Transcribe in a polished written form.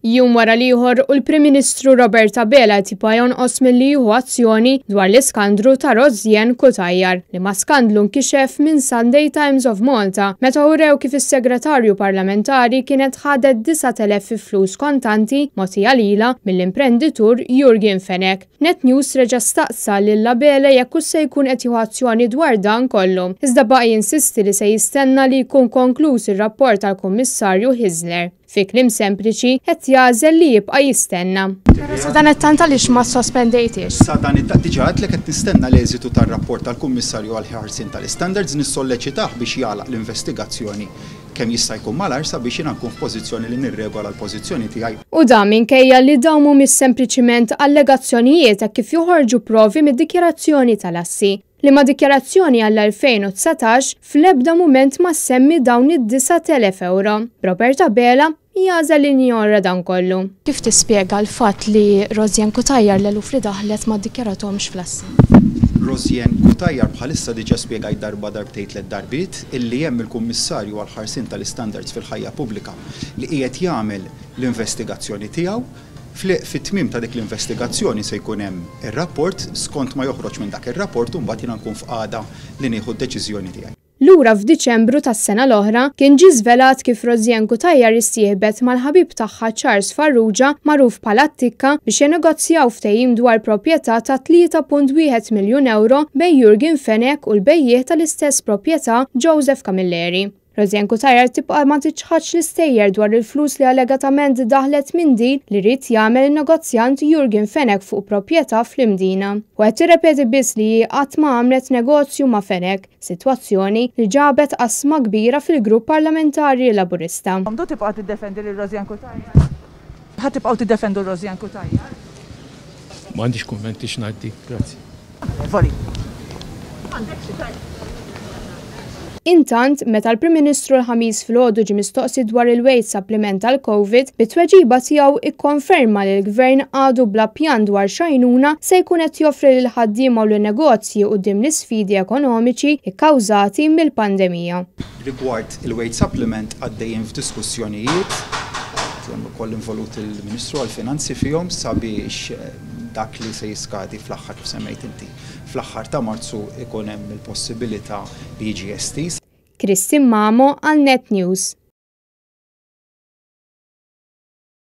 Jum wara l-ieħor u l-Prim Ministru Robert Abela qed jibqa' jonqos milli jieħu azzjoni dwar l-iskandru ta' Rosianne Cutajar, liema skandlu nkixef minn Sunday Times of Malta meta urew kif is-Segretarju Parlamentari kienet ħadet 9,000 fi flus kontanti mogħtija lilha mill-imprenditur Yorgen Fenech. Net News reġa' staqsa lil Abela jekk hux se jkun qed jieħu azzjoni dwar dan kollu, iżda baqa' jinsisti li se jistenna li jkun konkluż ir-rapport tal-Kummissarju Hyzler. Fi kliem sempliċi, qed jagħżel li jibqa' jistenna. Però sadanittant għaliex ma ssospendejthiex? Sadanittant, diġà għedtlek qed nistenna l-eżitu tar-rapport tal-Kummissarju għall-Ħarsien tal-Istandards, nissolleċitah biex jagħlaq l-investigazzjoni kemm jista' jkun malajr sabiex jiena nkun f'pożizzjoni li nirregola l-pożizzjoni tiegħi. U dan minkejja li dawn mhumiex sempliċiment allegazzjonijiet hekk kif joħorġu provi mid-dikjarazzjoni tal-assi. Liema dikjarazzjoni għall-2019 fl-ebda mument ma ssemmi dawn id-9,000 ewro. B'Robert Abela jagħżel li jinjora dan kollu. Kif tispjega l-fatt li Rosianne Cutajar l-eluf li daħlet ma ddikjarathomx fl-assi? Rosianne Cutajar bħalissa diġà spjegajt darba, darbtejn, tlett darbiet illi hemm il-Kummissarju għall-Ħarsien tal-Istandards fil-Ħajja Pubblika li qiegħed jagħmel l-investigazzjoni tiegħu. Fit-tmiem ta' dik l-investigazzjoni se jkun hemm ir-rapport, skont ma joħroġ minn dak ir-rapport imbagħad jiena nkun f'qagħda li nieħu d-deċiżjoni tiegħi. Lura f'Diċembru tas-sena l-oħra, kien ġie żvelat kif Rosianne Cutajar issieħbet mal-ħabib tagħha Charles Farrugia, magħruf bħala t-Tikka, biex jenegozjaw ftehim dwar proprjetà ta' 3.1 miljun ewro bejn Yorgen Fenech u l-bejjiegħ tal-istess proprjetà Joseph Camilleri. Rosianne Cutajar tibqa' ma tiċħadx l-istejjer dwar il-flus li allegatament daħlet minn deal li ried jagħmel in-negozjant Yorgen Fenech fuq proprjetà fl-Imdina. U qed tirrepeti biss li hi qatt ma għamlet negozju ma' Fenech, sitwazzjoni li ġabet qasma kbira fil-grupp parlamentari Laburista. Għandu tibqa' tiddefendi lil Rosianne Cutajar? Ħa tibqgħu tiddefendu Rosianne Cutajar? M'għandix kummenti x'ngħaddi, grazzi. Intant, meta l-Prim Ministru l-Ħamis filgħodu ġie mistoqsi dwar il-wage supplement tal-Covid, bit-tweġiba tiegħu ikkonferma li l-Gvern għadu bla pjan dwar x'għajnuna se jkun qed joffri lill-ħaddiema u lin-negozji quddiem l-isfidi ekonomiċi kkawżati mill-pandemija. Rigward il-wage supplement għaddejjin f'diskussjonijiet, hemm ukoll involut il-Ministru għall-Finanzi fihom sabiex dak li se jiskadi fl-aħħar kif semmejt inti, fl-aħħar ta' Marzu ikun hemm il-possibilità li jiġi estiż. Christine Mamo għal Net News.